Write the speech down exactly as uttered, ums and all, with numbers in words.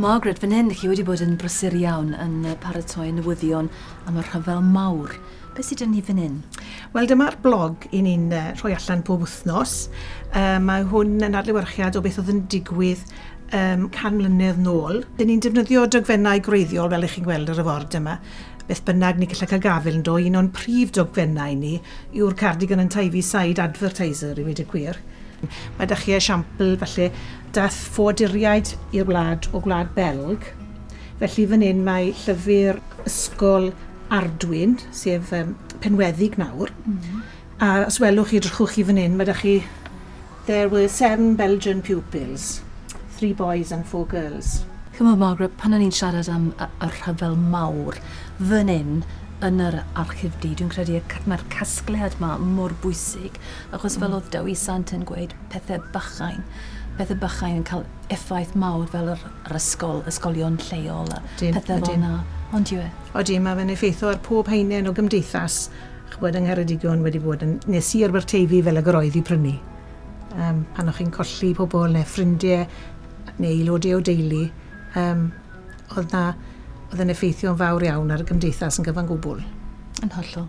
Margaret, fan hyn, chi wedi bod yn brysur iawn yn paratoi newyddion am y rhyfel mawr. Beth sydd 'da ni fan hyn? Wel, dyma'r blog i ni'n uh, rhoi allan pob wythnos. Uh, mae hwn yn adlewyrchiad o beth oedd yn digwydd um, can mlynedd nôl. Dyn ni'n defnyddio dogfennau gwreiddiol, fel ych chi'n gweld ar y ford yma. Beth bynnag ni gallu cael gafel ynddo, un o'n prif dogfennau ni yw'r Cardigan and Tivy Side Advertiser, i weud y gwir. Mae 'da chi esiampl, falle, dath ffoaduriaid i'r wlad o Gwlad Belg. Felly fan hyn mae llyfr ysgol Ardwyn, sef um, Penweddig nawr. Mm -hmm. A os welwch chi, drychwch chi fan hyn, mae 'da chi "There were seven Belgian pupils, three boys and four girls." Chymod, Margaret, pan o'n i'n siarad am y, y rhyfel mawr, fan hyn, yn yr archifdy, dwi'n credu mae'r casgliad yma mor bwysig, achos fel mm. oedd Dewi Sant yn gweud, pethau bychain, pethau bychain yn cael effaith mawr fel yr, yr ysgol, ysgolion lleol a Dyn, pethau fel yna. Ond yw e? Odi, mae fe'n effeithio ar pob haenen o gymdeithas chybod yng Ngheredigion wedi bod yn, neu Sir Aberteifi fel y roedd i prynu. Um, pan o'ch chi'n colli pobl neu ffrindiau neu aelodau o deulu, um, oedd na oedd yn effeithio'n fawr iawn ar y gymdeithas yn gyfan gwbl. Yn hollol.